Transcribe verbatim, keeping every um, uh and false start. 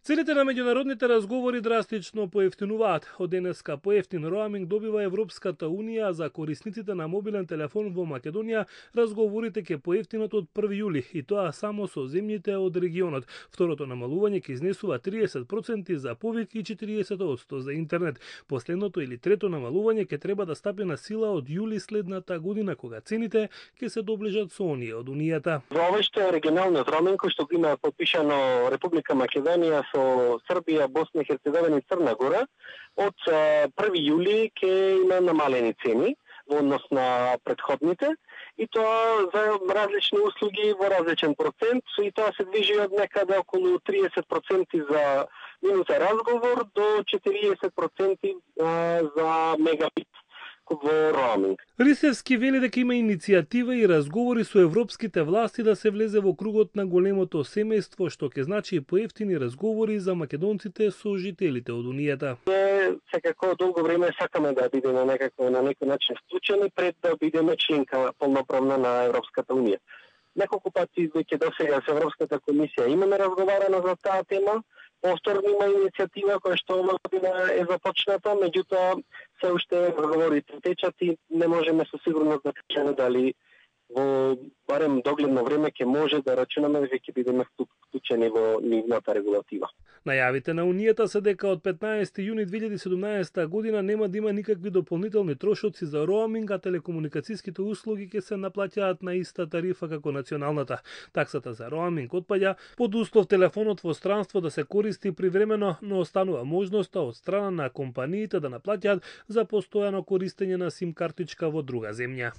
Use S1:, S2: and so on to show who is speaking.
S1: Целите на меѓународните разговори драстично поевтинуваат. Од денеска поевтин роаминг добива Европската унија, за корисниците на мобилен телефон во Македонија разговорите ќе поевтинат од први јули, и тоа само со земјите од регионот. Второто намалување ќе изнесува триесет проценти за повик и четириесет проценти за интернет. Последното или трето намалување ќе треба да стапи на сила од јули следната година, кога цените ќе се доближат со оние од Унијата.
S2: Во овој што е регионалниот роаминг, кој што го има подпишано Република Македонија со Србија, Босна и Херцеговина и Црна Гора, од први јули ќе има намалени цени во однос на претходните, и тоа за различни услуги во различен процент, и тоа се движи од некаде околу триесет проценти за минута разговор до четириесет проценти за мегабит во роаминг.
S1: Рисевски вели дека има иницијатива и разговори со европските власти да се влезе во кругот на големото семејство, што ќе значи и поевтини разговори за македонците со жителите од Унијата.
S2: Секако долго време сакаме да бидеме некако на некој начин вклучени пред да бидеме членка полноправна на Европската унија. Неколку пати веќе досега со Европската комисија имаме разговарано за таа тема. Повторно има иницијатива која што оваа година е започната, меѓутоа се уште разговорите течат и не можеме со сигурност да кажеме дали во барем догледно време ќе може да рачунаме дека ќе бидеме вклучени во нивната регулатива.
S1: Најавите на Унијата се дека од петнаесети јуни две илјади и седумнаесета година нема да има никакви дополнителни трошоци за роаминг, а телекомуникацијските услуги ќе се наплаќаат на иста тарифа како националната. Таксата за роаминг отпаѓа под услов телефонот во странство да се користи привремено, но останува можноста од страна на компаниите да наплаќаат за постојано користење на сим картичка во друга земја.